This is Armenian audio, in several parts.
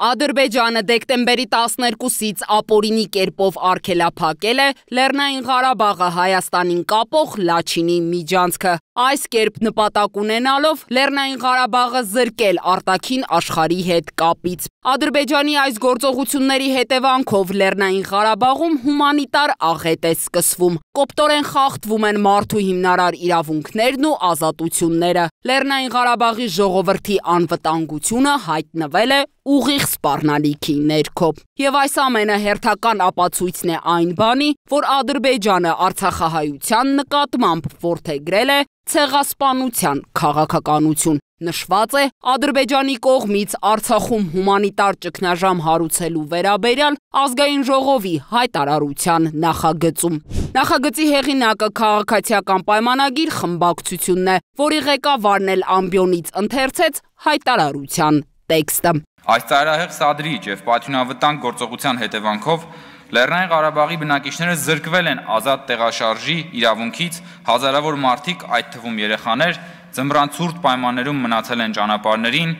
Ադրբեջանը դեկտեմբերի 12-ից ապօրինի կերպով արգելափակել է Լեռնային Ղարաբաղը Հայաստանին կապող Լաչինի միջանցքը, այս կերպ նպատակ ունենալով Լեռնային Ղարաբաղը զրկել արտաքին աշխարհի հետ կապից։ Ադրբեջանի այս գործողությունների հետևանքով Լեռնային Ղարաբաղում հումանիտար աղետ է սկսվում, կոպտորեն խախտվում են մարդու հիմնարար իրավունքներն ու ազատությունները։ Լեռնային Ղարաբաղի ժողովրդի անվտանգությունը հայտնվել է ուղիղ սպառնալիքի ներքո։ Եվ այս ամենը հերթական ապացույցն է այն բանի, որ Ադրբեջանը Արցախահայության նկատմամբ որդեգրել է ցեղասպանության քաղաքականություն։ Նշված է Ադրբեջանի կողմից Արցախում հումանիտար ճգնաժամ հարուցելու վերաբերյալ ազգային ժողովի հայտարարության նախագծում։ Նախագծի հեղինակը քաղաքացիական պայմանագիր խմբակցությունն է, որի ղեկավարն էլ ամբիոնից ընթերցեց հայտարարության տեքստը։ Այս ծայրահեղ սադրիչ եւ պատյունավտանգ գործողության հետևանքով Լեռնային Ղարաբաղի բնակիչները զրկվել են ազատ տեղաշարժի իրավունքից, հազարավոր մարդիկ, այդ թվում երեխաներ, ձմռան ցուրտ պայմաններում մնացել են ճանապարհներին,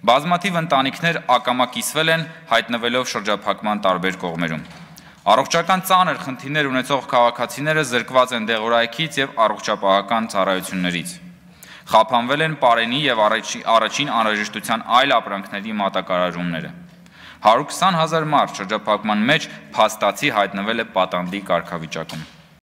բազմաթիվ ընտանիքներ ակամակիսվել են, հայտնվելով շրջափակման տարբեր կողմերում։ Առողջական ծանր խնդիրներ ունեցող քաղաքացիները զրկված են դեղորայքից եւ առողջապահական ծառայություններից։ Խափանվել են պարենի եւ առաջին անհրաժեշտության այլ ապրանքների մատակարարումները։ 120,000 մարդ շրջափակման մեջ փաստացի հայտնվել է պատանդի կարգավիճակում։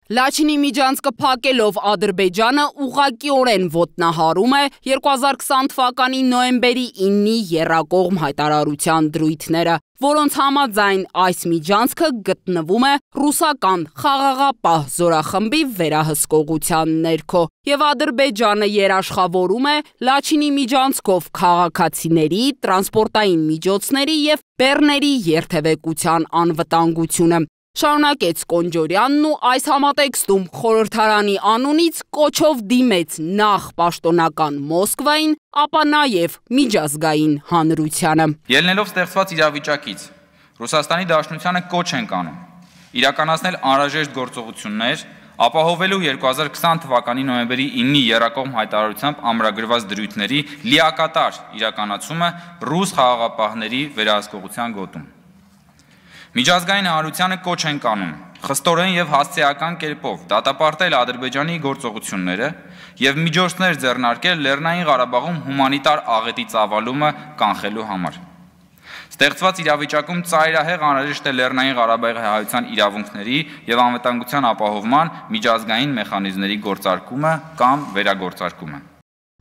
Լաչինի միջանցքը փակելով Ադրբեջանը ուղղակիորեն ոտնահարում է 2020 թվականի նոյեմբերի 9-ի եռակողմ հայտարարության դրույթները, որոնց համաձայն այս միջանցքը գտնվում է ռուսական խաղաղապահ զորախմբի վերահսկողության ներքո, եւ Ադրբեջանը երաշխավորում է Լաչինի միջանցքով քաղաքացիների, տրանսպորտային միջոցների եւ բեռների երթևեկության անվտանգությունը։ Շարունակեց Կոնջորյանն ու այս համատեքստում խորհրդարանի անունից կոչով դիմեց նախ պաշտոնական Մոսկվային, ապա նաև միջազգային հանրությանը։ Ելնելով ստեղծված իրավիճակից, Ռուսաստանի Դաշնությանը կոչ ենք անում իրականացնել անհրաժեշտ գործողություններ, ապահովելու 2020 թվականի նոյեմբերի 9-ի եռակողմ հայտարարությամբ ամրագրված դրույթների լիակատար իրականացումը ռուս խաղաղապահների վերահսկողության գոտում։ Միջազգային հանրությանը կոչ ենք անում խստորեն եւ հասցեական կերպով դատապարտել Ադրբեջանի գործողությունները եւ միջոցներ ձեռնարկել Լեռնային Ղարաբաղում հումանիտար աղետի ծավալումը կանխելու համար։ Ստեղծված իրավիճակում ծայրահեղ անհրաժեշտ է Լեռնային Ղարաբաղի հայության իրավունքների եւ անվտանգության ապահովման միջազգային մեխանիզմների գործարկումը կամ վերագործարկումը։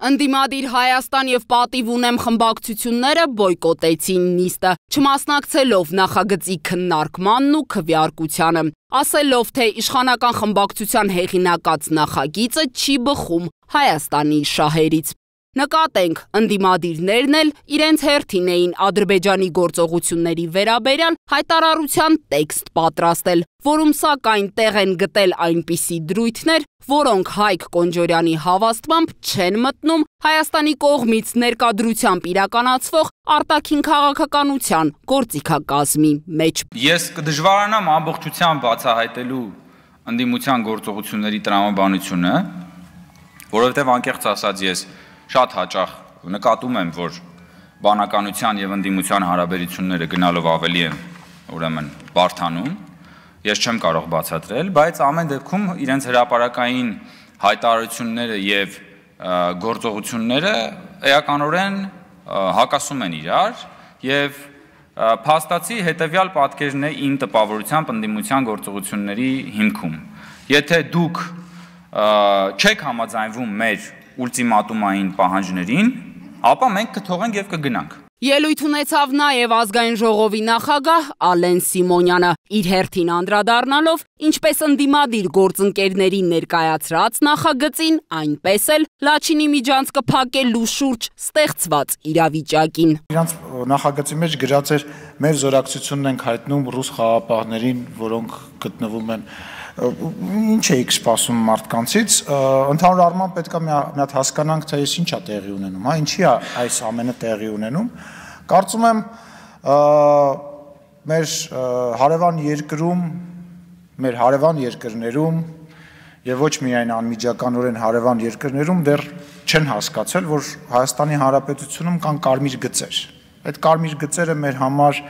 Ընդդիմադիր Հայաստան եւ Պատիվ ունեմ խմբակցությունները բոյկոտեցին նիստը, չմասնակցելով նախագծի քննարկմանն ու քվեարկությանը, ասելով, թե իշխանական խմբակցության հեղինակած նախագիծը չի բխում Հայաստանի շահերից։ Նկատենք, ընդդիմադիրներն էլ իրենց հերթին էին Ադրբեջանի գործողությունների վերաբերյալ հայտարարության տեքստ պատրաստել, որում սակայն տեղ են գտել այնպիսի դրույթներ, որոնք Հայկ Կոնջորյանի հավաստմամբ չեն մտնում Հայաստանի կողմից ներկադրությամբ իրականացվող արտաքին քաղաքականության գործիքակազմի մեջ։ Ես կդժվարանամ ամբողջությամբ բացահայտելու ընդդիմության գործողությունների տրամաբանությունը, որովհետև անկեղծ ասած ես շատ հաճախ նկատում եմ, որ բանականության եւ ընդդիմության հարաբերությունները գնալով ավելի են, ուրեմն, բարդանում, ես չեմ կարող բացատրել, բայց ամեն դեպքում իրենց հրապարակային հայտարարությունները եւ գործողությունները էականորեն հակասում են իրար եւ փաստացի հետեւյալ պատկերն է իմ տպավորությամբ ընդդիմության գործողությունների հիմքում։ Եթե դուք չեք համաձայնվում մեր ուլտիմատումային պահանջներին, ապա մենք կթողենք եւ կգնանք։ Ելույթ ունեցավ նաև ազգային ժողովի նախագահ Ալեն Սիմոնյանը, իր հերթին անդրադառնալով ինչպես ընդդիմադիր գործընկերների ներկայացրած նախագծին, այնպես էլ Լաչինի միջանցքը փակելու շուրջ ստեղծված իրավիճակին։ Իրանց նախագծի մեջ գրած էր մեր զորակցությունն ենք հայտնում ռուս խաղաղապահներին, որոնք գտնվում են ինչ էիք սպասում մարդկանցից, ընդհանուր առմամբ պետք է մի հատ հասկանանք, թե ինչ է տեղի ունենում, հա, ինչի է այս ամենը տեղի ունենում։ Կարծում եմ մեր հարևան երկրում, մեր հարևան երկրներում եւ ոչ միայն անմիջականորեն հարևան երկրներում դեռ չեն հասկացել, որ Հայաստանի Հանրապետությունում կան կարմիր գծեր։ Այդ կարմիր գծերը մեր համար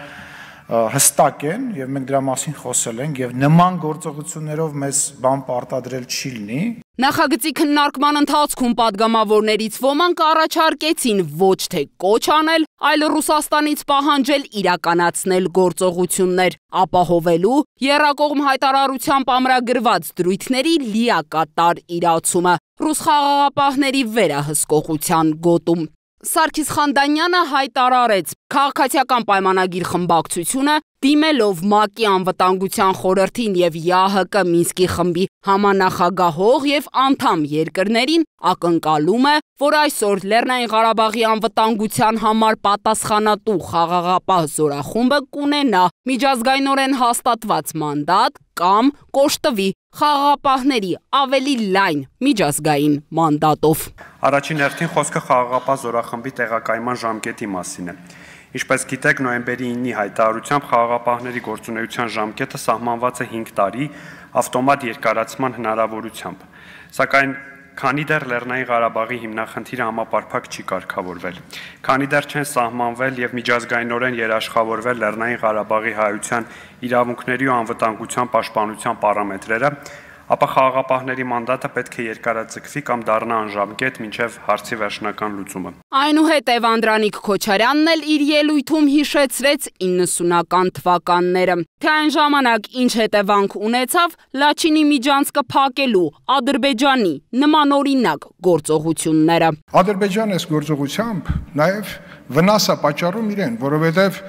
հստակ են եւ մենք դրա մասին խոսել ենք եւ նման գործողություններով մեզ բան պարտադրել չի լինի։ Նախագծի քննարկման ընթացքում падգամավորներից ոմանք առաջարկեցին ոչ թե կոչ անել, այլ Ռուսաստանից պահանջել իրականացնել գործողություններ, ապահովելու եռակողմ հայտարարությամբ ամրագրված դրույթների լիակատար իրացումը ռուս խաղաղապահների վերահսկողության գոտում։ Սարգիս Խանդանյանը հայտարարեց քաղաքացիական պայմանագիր խմբակցությունը դիմելով ՄԱԿ-ի անվտանգության խորհրդին եւ ԵԱՀԿ Մինսկի խմբի համանախագահող եւ անդամ երկրներին ակնկալում է, որ այսօր Լեռնային Ղարաբաղի անվտանգության համար պատասխանատու խաղաղապահ զորախումբը կունենա միջազգայինորեն հաստատված մանդատ կամ կոշտվի խաղաղապահների ավելի լայն միջազգային մանդատով։ Առաջին հերթին խոսքը խաղաղապահ զորախմբի տեղակայման ժամկետի մասին է։ Ինչպես գիտեք, նոյեմբերի 9-ի հայտարարությամբ խաղաղապահների գործունեության ժամկետը սահմանված է 5 տարի ավտոմատ երկարացման հնարավորությամբ։ Սակայն քանի դեռ Լեռնային Ղարաբաղի հիմնախնդիրը համապարփակ չի կարգավորվել, քանի դեռ չեն սահմանվել եւ միջազգայինորեն երաշխավորվել Լեռնային Ղարաբաղի հայության իրավունքների ու անվտանգության պաշտպանության պարամետրերը, ապա խաղաղապահների մանդատը պետք է երկարաձգվի կամ դառնա անժամկետ մինչև հարցի վերջնական լուծումը։ Այնուհետև Անդրանիկ Քոչարյանն էլ իր ելույթում հիշեցրեց 90-ական թվականները, թե այն ժամանակ ինչ հետևանք ունեցավ Լաչինի միջանցքը փակելու Ադրբեջանի նմանօրինակ գործողությունները։ Ադրբեջանը այս գործողությամբ նաև վնաս է պատճառում իրեն, որովհետև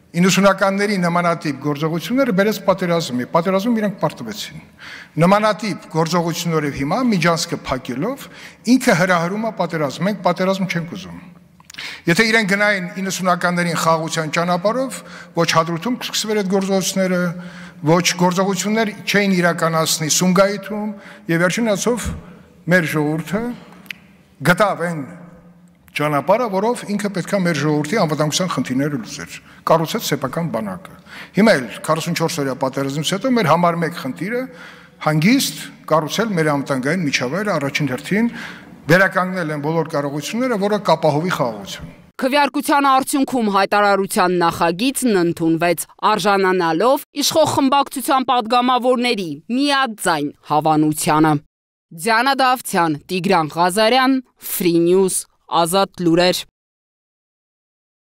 90-ականների նմանատիպ գործողությունները բերեց պատերազմում իրանք պարտվեցին։ Նմանատիպ գործողություններով հիմա միջանցքը փակելով ինքը հրահրում է պատերազմ, մենք պատերազմ չենք ուզում։ Եթե իրենք գնային 90-ականներին խաղաղության ճանապարհով, ոչ Հադրութում կսկսվեր այդ գործողությունները, ոչ գործողություններ չէին իրականացնի Սումգայիթում, եւ վերջին հաշվով մեր ժողովուրդը գտավ այն ճանապարհը, որով ինքը պետքա մեր ժողովրդի անվտանգության խնդիրները լուծեր, կառուցեց սեփական բանակը։ Հիմա էլ 44 օրյա պատերազմից հետո մեր համար մեկ խնդիրը հանգիստ կառուցել մեր անվտանգային միջավայրը առաջին հերթին վերականգնել են բոլոր կարողությունները, որը կապահովի խաղաղություն։ Քվեարկության արդյունքում հայտարարության նախագիծն ընդունվեց, արժանանալով իշխող խմբակցության падգամավորների միաձայն հավանությանը։ Դիանա Դավթյան, Տիգրան Ղազարյան, Free News, Ազատ լուրեր։